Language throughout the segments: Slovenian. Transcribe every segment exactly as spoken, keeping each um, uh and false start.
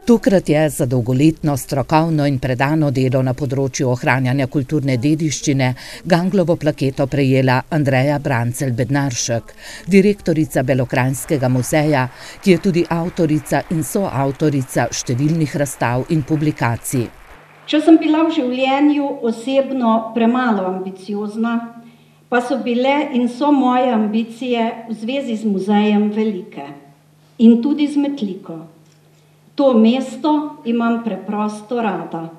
Tokrat je za dolgoletno strokovno in predano delo na področju ohranjanja kulturne dediščine Ganglovo plaketo prejela Andreja Brancelj Bednaršek, direktorica Belokranjskega muzeja, ki je tudi avtorica in soavtorica številnih razstav in publikacij. Če sem bila v življenju osebno premalo ambiciozna, pa so bile in so moje ambicije v zvezi z muzejem velike in tudi z Metliko. To mesto imam preprosto rada.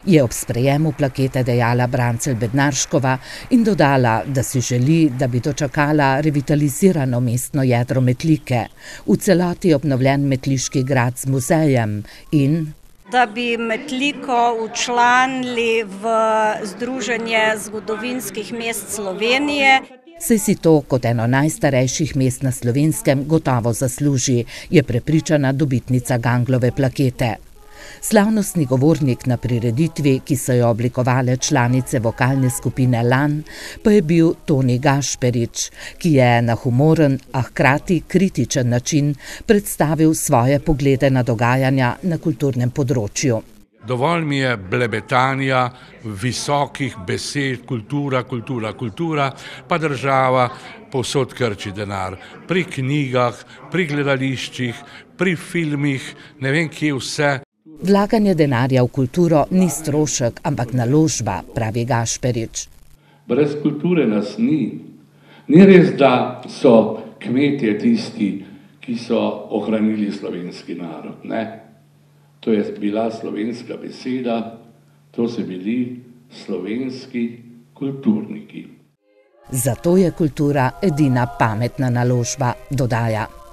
Je ob sprejemu plakete dejala Brancelj Bednarškova in dodala, da si želi, da bi dočakala revitalizirano mestno jedro Metlike, v celoti obnovljen metliški grad z muzejem in da bi Metliko včlanili v Združenje zgodovinskih mest Slovenije. Saj si to kot eno najstarejših mest na Slovenskem gotovo zasluži, je prepričana dobitnica Ganglove plakete. Slavnostni govornik na prireditvi, ki so jo oblikovale članice vokalne skupine Lan, pa je bil Toni Gašperič, ki je na humoren, a hkrati kritičen način predstavil svoje poglede na dogajanja na kulturnem področju. Dovolj mi je blebetanja, visokih besed, kultura, kultura, kultura, pa država povsod krči denar. Pri knjigah, pri gledališčih, pri filmih, ne vem kje vse. Vlaganje denarja v kulturo ni strošek, ampak naložba, pravi Gašperič. Brez kulture nas ni. Ni res, da so kmetje tisti, ki so ohranili slovenski narod, ne? To je bila slovenska beseda, to so bili slovenski kulturniki. Zato je kultura edina pametna naložba, dodaja.